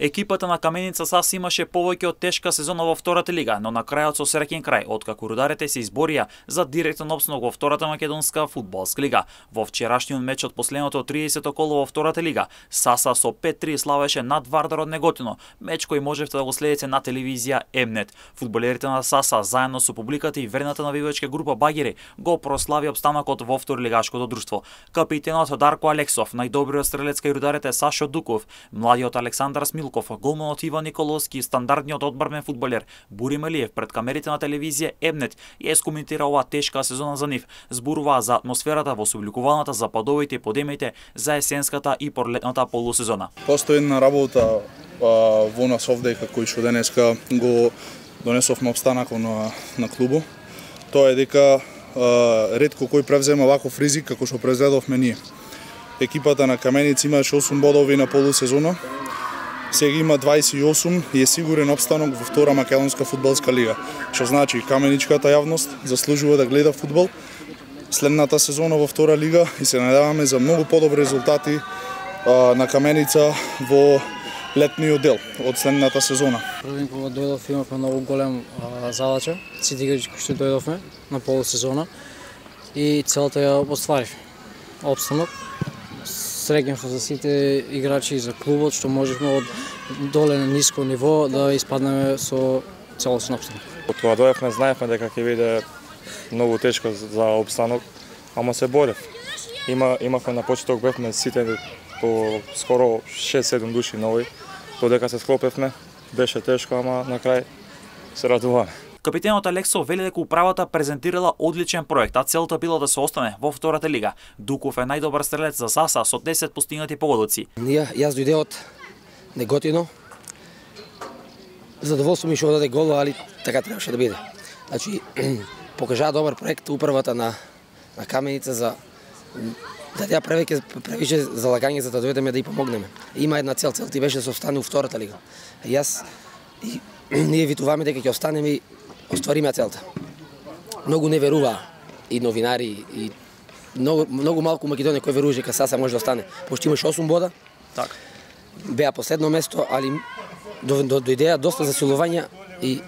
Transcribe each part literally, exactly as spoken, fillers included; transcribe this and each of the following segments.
Екипата на Каменица САС имаше повеќе од тешка сезона во втората лига, но на крајот со среќен крај, откако рударите се изборија за директен опстанок во втората македонска фудбалска лига. Во вчерашниот меч од последното триесето коло во втората лига, САСа со пет три славеше над Вардар од Неготино, меч кој можевте да го следите на телевизија Емнет. Фудбалерите на САСа заедно со публиката и верната навивачка група Багери го прослави опстанокот во второлигашкото друштво. Капитенот Дарко Алексов, најдобриот стрелец кај рударите Сашо Дуков, младиот Александар Смилков, голманот Иван Николовски и стандардниот одбармен фудбалер Бури Мелиев пред камерите на телевизија Емнет ја скоментира оваа тешка сезона за нив. Зборуваа за атмосферата во собликуваната за падовите и подемите за есенската и пролетната полусезона. Постои една работа а, во нас овде кој што денеска го донесовме опстанакот на на клубот. Тоа е дека а, ретко кој превзема ваков ризик како што превзедовме ние. Екипата на Каменица имаше осум бодови на полусезона. Сега има дваесет и осум и е сигурен опстанок во втора македонска фудбалска лига. Што значи каменичката јавност заслужува да гледа фудбал следната сезона во втора лига и се надеваме за многу подобри резултати а, на Каменица во летниот дел од следната сезона. Првен кога дојдов имавме многу голем а, задача, сите играчи кои што дојдовме на полусезона и целата ја остваривме. Опстанок. Среќен сум за сите играчи и за клубот што можевме од доле на ниско ниво да испаднеме со целосен опстанок. Од кога дојавме знаевме дека ќе биде многу тешко за опстанок, ама се борев. Има имавме на почеток бевме сите по скоро шест-седум души нови, додека се склопевме, беше тешко, ама на крај се радуваме. Капитенот Алексов вели дека управата презентирала одличен проект, а целта била да се остане во втората лига. Дуков е најдобар стрелец за САСа со десет постигнати погодоци. Ние јас дојде од Неготино. Задоволство ми што даде гол, али така требаше да биде. Значи покажаа добар проект управата на на Каменица за да ја превеќе превише залагање за да дојдеме да и помогнеме. Има една цел, целта беше да се остане во втората лига. Јас и ние витуваме дека ќе останеме и оствариме целта. Многу не веруваа и новинари и многу многу малку Македонија кој веруваше дека САСа може да остане. Пошто имаше осум бода. Така. Беа последно место, али до, до, дојдеа доста засилувања и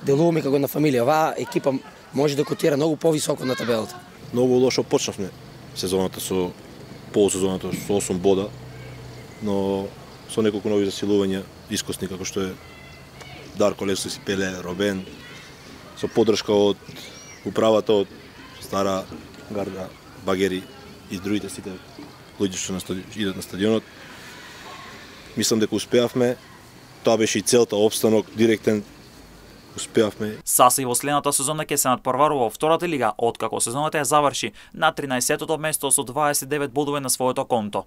делуваме како на фамилија. Оваа екипа може да котира многу повисоко на табелата. Многу лошо почнавме сезоната со полусезоната со осум бода, но со неколку нови засилувања, искусни како што е Дарко Алексов, Пеле, Робен, со поддршка од управата од Стара гарда, Багери и другите сите луѓе што идат на стадионот. Мислам дека успеавме. Тоа беше и целта, опстанок директен. Успеавме. САСа и во следната сезона ќе се надпрварува во втората лига, откако сезоната ја заврши на тринаесеттото место со дваесет и девет бодови на своето конто.